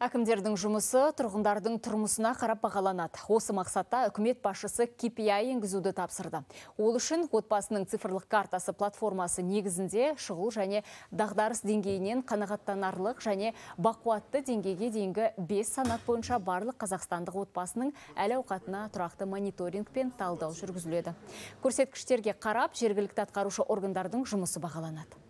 Әкімдердің жұмысы тұрғындардың тұрмысына қарап бағаланады. Осы мақсатта үкімет басшысы KPI енгізуді тапсырды. Ол үшін отбасының цифрлық картасы платформасы негізінде шұғыл және дағдарыс деңгейінен қанағаттанарлық және бақуатты деңгейге дейінгі 5 санат бойынша барлық қазақстандық отбасының әл-ауқатына тұрақты мониторинг пен талдау жүргізіледі. Көрсеткіштерге қарап, жергілікті атқарушы органдардың жұмысы бағаланады.